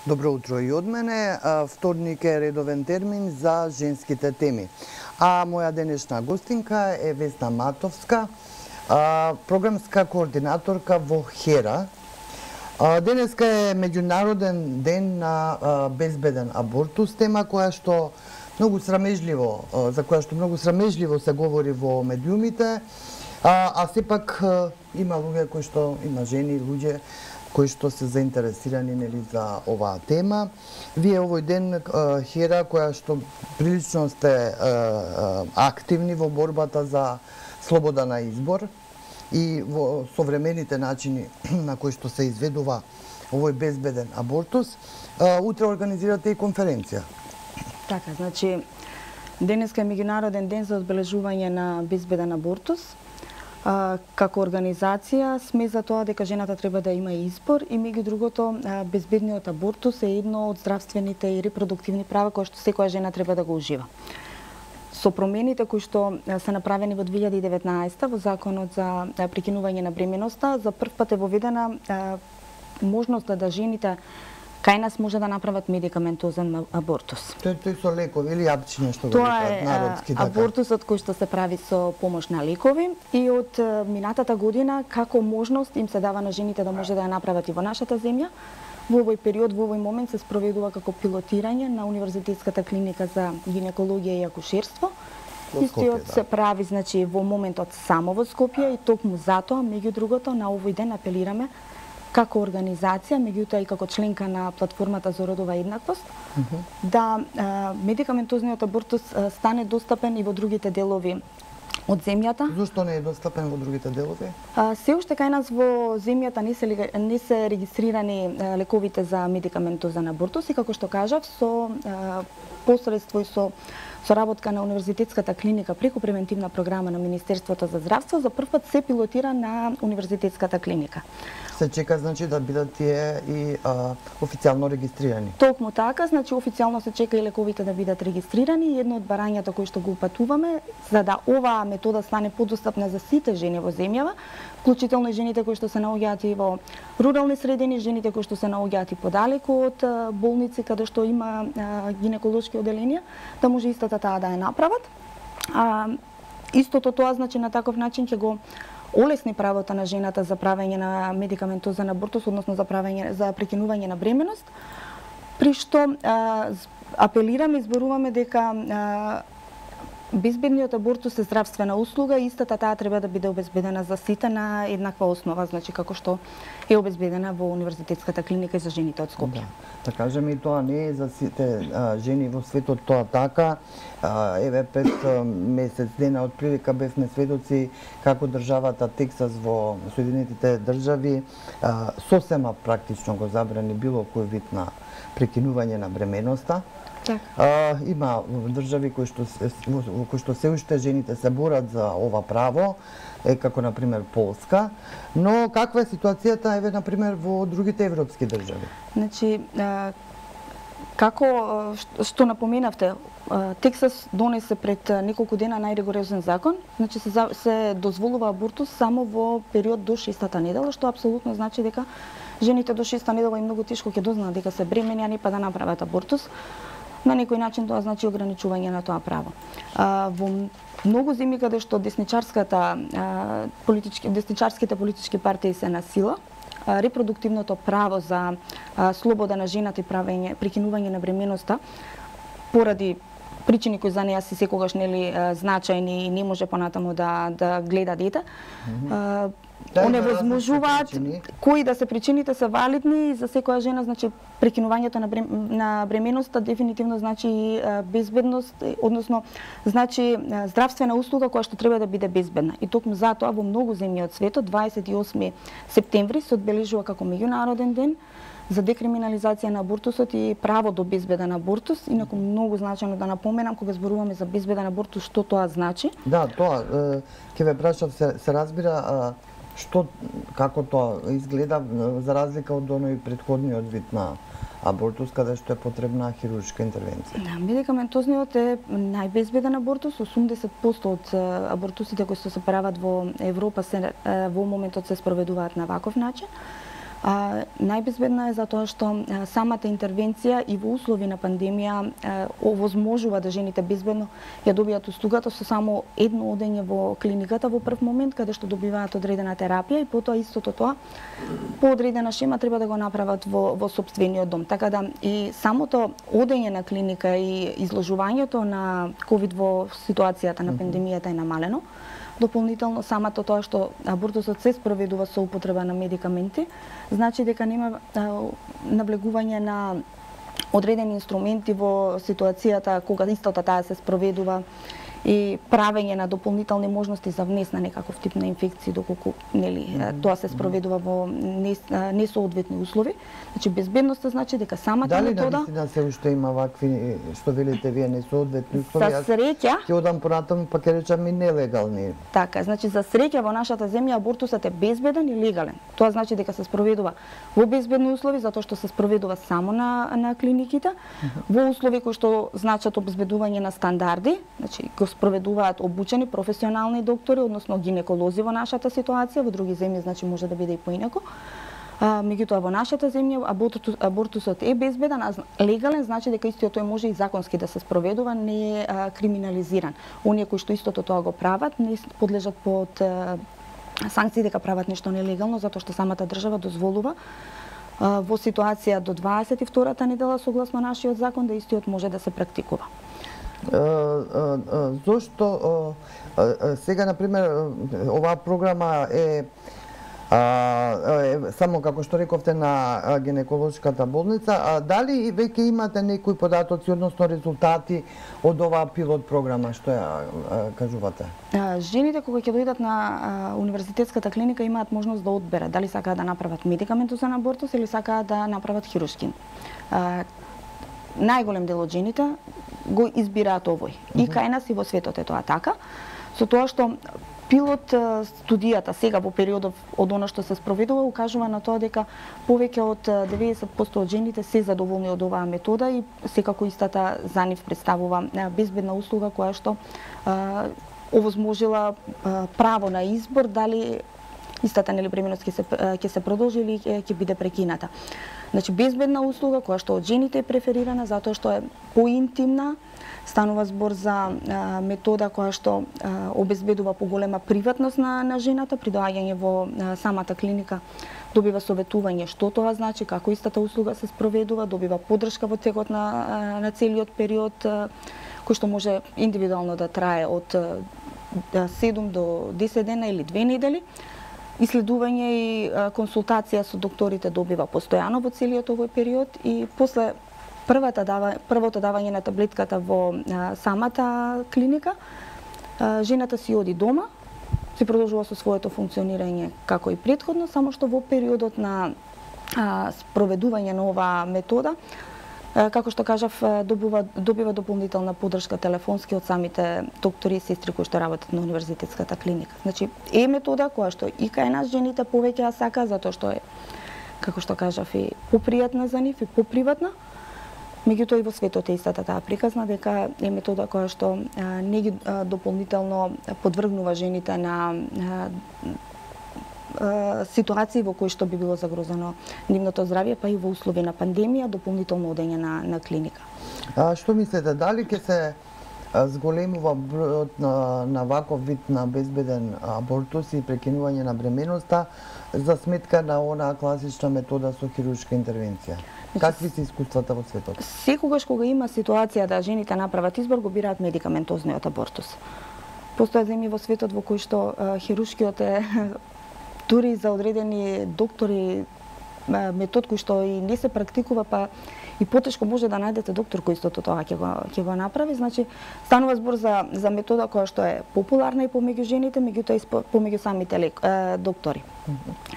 Добро утро и од мене. Вторник е редовен термин за женските теми. А моја денешна гостинка е Весна Матовска, програмска координаторка во ХЕРА. Денеска е меѓународен ден на безбеден абортус, тема за која што многу срамежливо се говори во медиумите, а сепак има луѓе кои што има жени, луѓе кои што се заинтересирани за оваа тема. Вие овој ден ХЕРА, која што прилично сте активни во борбата за слобода на избор и во современите начини на кои што се изведува овој безбеден абортус, утре организирате и конференција. Така, значи, денеска е меѓународен ден за одбележување на безбеден абортус. Како организација сме за тоа дека жената треба да има избор и меѓу другото безбедниот абортус е едно од здравствените и репродуктивни права кои што секоја жена треба да го ужива. Со промените кои што се направени во 2019 во Законот за прекинување на бременоста, за прв пат е воведена можноста да жените кај нас може да направат медикаментозен абортус. Тој со лекови или јапчиња што го викаат народски така. Тоа е абортусот кој што се прави со помош на лекови и од минатата година како можност им се дава на жените да може да ја направат и во нашата земја. Во овој период, во овој момент се спроведува како пилотирање на Универзитетската клиника за гинекологија и акушерство. Истиот се прави значи во моментот само во Скопје и токму затоа меѓу другото на овој ден апелираме како организација, меѓутоа и како членка на платформата за родова еднаквост, да медикаментозниот абортус стане достапен и во другите делови од земјата. Зошто не е достапен во другите делови? Се уште кај нас во земјата не се регистрирани лековите за медикаментозен абортус и како што кажав, со посредство и со соработка на Универзитетската клиника преку превентивна програма на Министерството за здравство, за прв пат се пилотира на Универзитетската клиника. Се чека значи да бидат тие и официјално регистрирани. Токму така, значи официјално се чека и лековите да бидат регистрирани и едно од барањата кои што го упатуваме за да оваа метода стане подостапна за сите жени во земјава, вклучително и жените кои што се наоѓаат и во рурални средини, жените кои што се наоѓаат и подалеку од болници каде што има гинеколошки оделенија, да може истата таа да ја направат. Истото тоа значи на таков начин ќе го олесни правото на жената за правење на медикаментозен абортус, односно за прекинување на бременост, при што апелираме и зборуваме дека безбедниот абортус е здравствена услуга и истата таа треба да биде обезбедена за сите на еднаква основа, значи како што е обезбедена во Универзитетската клиника за жените од Скопје. Да кажеме и тоа не е за сите жени во светот тоа така. Еве 5 месец дена од прилика бевме сведоци како државата Тексас во Соединетите држави сосема практично го забрани било кој вид на прекинување на бременоста. Има држави кои што се уште жените се борат за ова право, како на пример Полска, но каква е ситуацијата еве на пример во другите европски држави? Значи како што напоменавте, Тексас донесе пред неколку дена најригорозен закон, значи се дозволува абортус само во период до 6-та недела, што апсолутно значи дека жените до 6-та недела и многу тешко ќе дознаат дека се бремени, а не па да направат абортус. На некој начин тоа значи ограничување на тоа право. Во многу земји каде што десничарските политички партии се на сила, репродуктивното право за слобода на жената и прекинување на бременоста поради причини кои за неа се секогаш нели значајни и не може понатаму да гледа дете. Оневозможуваат кои да се причините се валидни и за секоја жена значи прекинувањето на бременоста дефинитивно значи безбедност, односно значи здравствена услуга која што треба да биде безбедна. И токму затоа во многу земји од светот 28 септември се одбележува како меѓународен ден за декриминализација на абортусот и право до безбеден абортус. Инаку многу значајно да напоменам кога зборуваме за безбеден абортус што тоа значи. Да, тоа ќе ве прашав, се разбира како тоа изгледа за разлика од оној претходниот вид на абортус, каде што е потребна хируршка интервенција. Да, медикаментозниот е најбезбеден абортус. 80% од абортусите кои се прават во Европа во моментот се спроведуваат на ваков начин. Најбезбедна е затоа што самата интервенција и во услови на пандемија овозможува да жените безбедно ја добијат услугата со само едно одење во клиниката во прв момент, каде што добиваат одредена терапија и потоа истото тоа по одредена шема треба да го направат во сопствениот дом. Така да и самото одење на клиника и изложувањето на ковид во ситуацијата на пандемијата е намалено. Дополнително самото тоа што абортусот се спроведува со употреба на медикаменти, значи дека нема навлегување на одредени инструменти во ситуацијата кога истото таа се спроведува и правење на дополнителни можности за внес на некаков тип на инфекција доколку тоа се спроведува во несоодветни услови. Значи безбедноста значи дека самата метода. Дали навистина се уште има вакви што велите вие несоодветни услови? За среќа ќе одам понатаму па ќе речам и нелегални. Така, значи за среќа во нашата земја абортусот е безбеден и легален. Тоа значи дека се спроведува во безбедни услови затоа што се спроведува само на клиниките, во услови кои што значат обезбедување на стандарди, значи го спроведуваат обучени професионални доктори, односно гинеколози во нашата ситуација, во други земји значи може да биде и поинаку. Меѓутоа во нашата земја абортусот е безбеден, а легален значи дека истиот тој може и законски да се спроведува, не е криминализиран. Оние кои што истото тоа го прават не подлежат под санкции дека прават нешто нелегално затоа што самата држава дозволува во ситуација до 22-та недела согласно нашиот закон да истиот може да се практикува. Зошто сега например оваа програма е само како што рековте на гинеколошката болница, дали веќе имате некои податоци односно резултати од оваа пилот програма, што ја кажувате? Жените кога ќе дојдат на универзитетската клиника имаат можност да одберат дали сакаат да направат медикаментозен абортус или сакаат да направат хируршки. Најголем дел од жените го избираат овој. И кај нас и во светот е тоа така, со тоа што пилот студијата сега во периодот од она што се спроведува укажува на тоа дека повеќе од 90% од жените се задоволни од оваа метода и секако истата за нив представува безбедна услуга која што овозможила право на избор дали истата бременност ќе се продолжи или ќе биде прекината. Значи безбедна услуга која што од жените е преферирана затоа што е поинтимна, станува збор за метода која што обезбедува поголема приватност на жената при доаѓање во самата клиника, добива советување што тоа значи, како истата услуга се спроведува, добива поддршка во текот на целиот период кој што може индивидуално да трае од 7 до 10 дена или 2 недели. Исследување и консултација со докторите добива постојано во целиот овој период и после првото давање на таблетката во самата клиника, жената си оди дома, си продолжува со своето функционирање како и претходно, само што во периодот на спроведување на оваа метода, како што кажав, добива дополнителна поддршка телефонски од самите доктори и сестри кои што работат на универзитетската клиника. Значи, е метода која што и кај нас жените повеќе ја сака, затоа што е, како што кажав, и попријатна за нив и поприватна. Меѓутоа и во светот е истата таа приказна дека е метода која што не ги дополнително подвргнува жените на ситуации во кои што би било загрозено нивното здравје, па и во услови на пандемија, дополнително одење на клиника. Што мислите, дали ќе се зголемува бројот на ваков вид на безбеден абортус и прекинување на бременоста за сметка на онаа класична метода со хируршка интервенција? Какви се искуствата во светот? Секогаш кога има ситуација да жените направат избор, го бираат медикаментозниот абортус. Постојат земји во светот во кои што хируршкиот е дури за одредени доктори метод кој што и не се практикува, па и потешко може да најдете доктор кој истото тоа ќе го направи. Значи, станува збор за метода која што е популарна и помеѓу жените, меѓутоа и помеѓу самите доктори.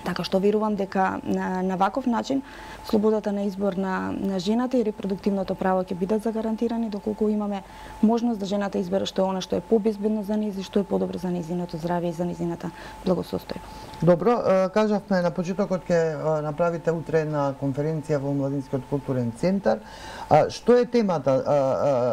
Така што верувам дека на ваков начин слободата на избор на жената и репродуктивното право ќе бидат загарантирани доколку имаме можност да жената избере што е она што е побезбедно за нејзи, што е подобро за нејзиното здравје и за нејзината благосостојба. Добро, кажавме на почетокот ќе направите утре на конференција во Младинскиот културен центар. Што е темата?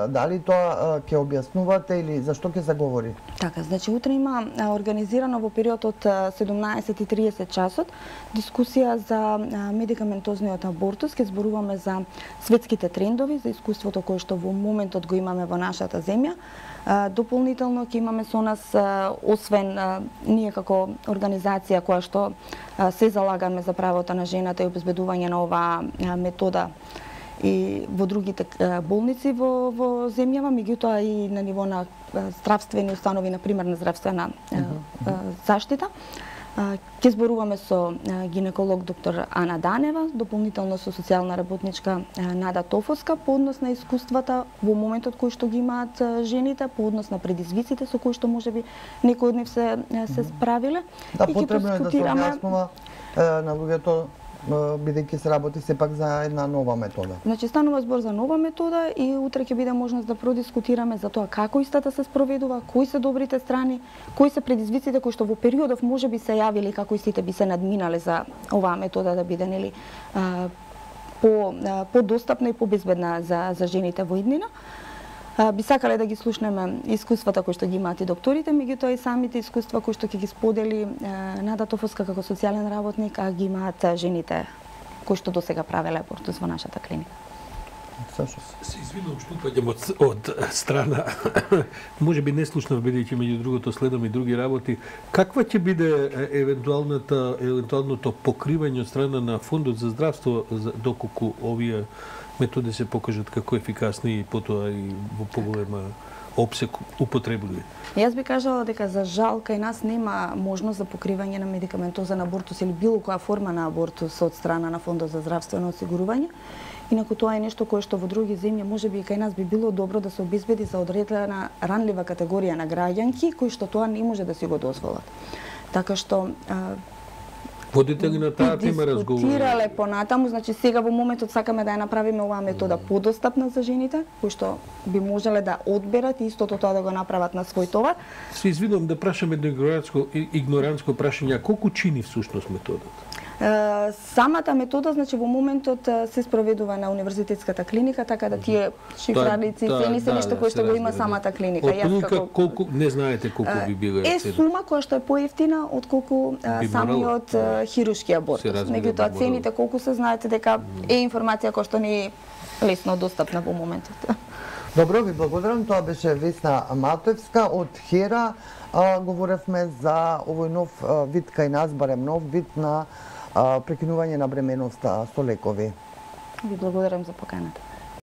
Дали тоа ќе објаснувате или зашто ќе се говори? Така, значи утре има организирано во период од 17:30 20:30 часот, дискусија за медикаментозниот абортус. Ке зборуваме за светските трендови, за искуството кое што во моментот го имаме во нашата земја. Дополнително ќе имаме со нас, освен ние како организација која што се залагаме за правото на жената и обезбедување на оваа метода и во другите болници во земјава, меѓутоа и на ниво на здравствени установи, на примерна здравствена заштита. Ќе зборуваме со гинеколог доктор Ана Данева, дополнително со социјална работничка Нада Тофовска по однос на искуствата во моментот кој што ги имаат жените, по однос на предизвиците со кои што можеби некои од нив се справиле. Да, потребно е да се објаснува на луѓето, бидејќи се работи сепак за една нова метода. Значи станува збор за нова метода и утре ќе биде можност да продискутираме за тоа како истата се спроведува, кои се добрите страни, кои се предизвиците кои што во периодов можеби се јавиле, како истите би се надминале за оваа метода да биде нели подостапна и побезбедна за жените во иднина. Би сакале да ги слушнеме искуствата кои што ги имаат и докторите, меѓутоа и самите искуства кои што ќе ги сподели Нада Тофовска како социјален работник, а ги имаат жените кои што досега правеле абортус во нашата клиника. Се извинувам што упаѓам од страна. Можеби не слушнав, бидејќи меѓу другото следам и други работи. Каква ќе биде евентуалното покривање од страна на Фондот за здравство доколку овие методи се покажат како ефикасни и потоа и во поголема опсек употребливи? Јас би кажала дека за жал кај нас нема можност за покривање на медикаментозен абортус или било која форма на абортус од страна на Фондот за здравствено осигурување. Инаку тоа е нешто кое што во други земји можеби и кај нас би било добро да се обезбеди за одредена ранлива категорија на граѓанки кои што тоа не може да си го дозволат. Така што водите ли на таа тема разговори? Дискутирале понатаму, значи сега во моментот сакаме да ја направиме оваа метода подостапна за жените, кои што би можеле да одберат и истото тоа да го направат на свој товар. Се извинувам да прашам едно игнорантско прашање, колку чини всушност методата? Самата метода, значи во моментот се спроведува на универзитетската клиника, така да тие шифраници цени се нешто кое што го има самата клиника. Од колку не знаете колку би била цена? Е сума која што е поевтина отколку самиот хируршки абортус. Меѓутоа цените колку се знаете дека е информација која што не е лесно достапна во моментот. Добро, ви благодарам. Тоа беше Весна Матевска од Хера. Говоревме за овој нов вид кај нас, барем нов вид на прекинување на бременоста со лекови. Ви благодарам за поканата.